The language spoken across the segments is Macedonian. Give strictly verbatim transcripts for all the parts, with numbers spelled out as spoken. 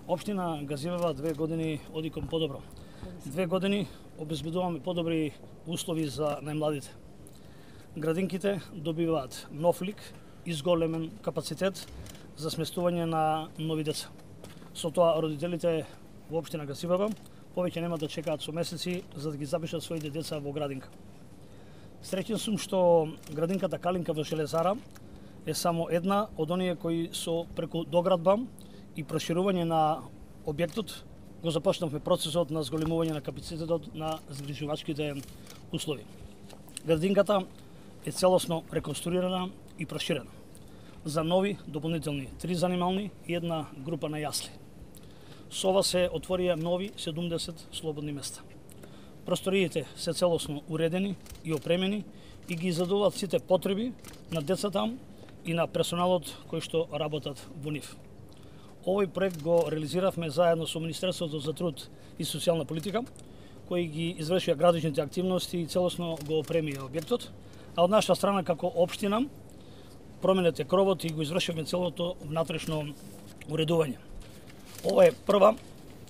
Општина Газивева две години оди кон подобро. Две години обезбедуваме подобри услови за најмладите. Градинките добиваат нов лик и зголемен капацитет за сместување на нови деца. Со тоа родителите во општина Газивева повеќе нема да чекаат со месеци за да ги запишат своите деца во градинка. Среќен сум што градинката Калинка во Железара е само една од оние кои со преку доградба и проширување на објектот го започнавме процесот на зголемување на капацитетот на згрижувачките услови. Градинката е целосно реконструирана и проширена за нови дополнителни три занимални и една група на јасли. Со ова се отворија нови седумдесет слободни места. Просториите се целосно уредени и опремени и ги задоволат сите потреби на децата и на персоналот кои што работат во нив. Овој проект го реализиравме заедно со Министерството за труд и социјална политика, кои ги извршија градичните активности и целосно го опремија објектот, а од наша страна како општина променете кровот и го извршивме целото внатрешно уредување. Ова е прва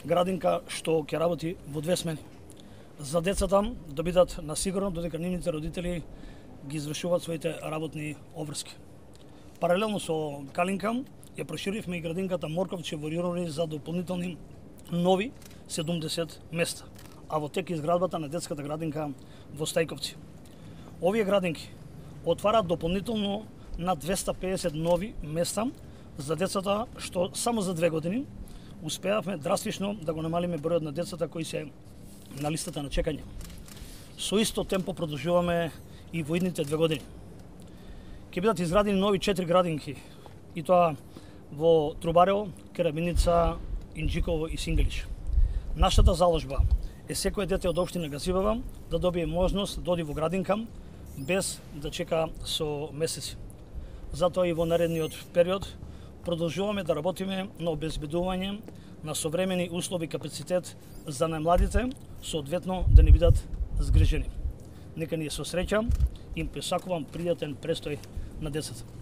градинка што ќе работи во две смени. За децата да бидат на сигурно додека нивните родители ги извршуваат своите работни обврски. Паралелно со Калинка ја проширивме и градинката Морковче во Јурови за дополнителни нови седумдесет места, а во тек изградбата на детската градинка во Стајковци. Овие градинки отвараат дополнително на двеста педесет нови места за децата, што само за две години успеавме драстично да го намалиме бројот на децата кои се на листата на чекање. Со исто темпо продолжуваме и во идните две години. Ќе бидат изградени нови четири градинки, и тоа во Трубарево, Кераминица, Инџиково и Сингелиш. Нашата заложба е секој дете од општина Газивева да добие можност да оди во градинка без да чека со месеци. Затоа и во наредниот период продолжуваме да работиме на обезбедување на современи услови и капацитет за најмладите, соодветно да не бидат згрижени. Нека ни е со среќа, им пресакувам пријатен престој на децата.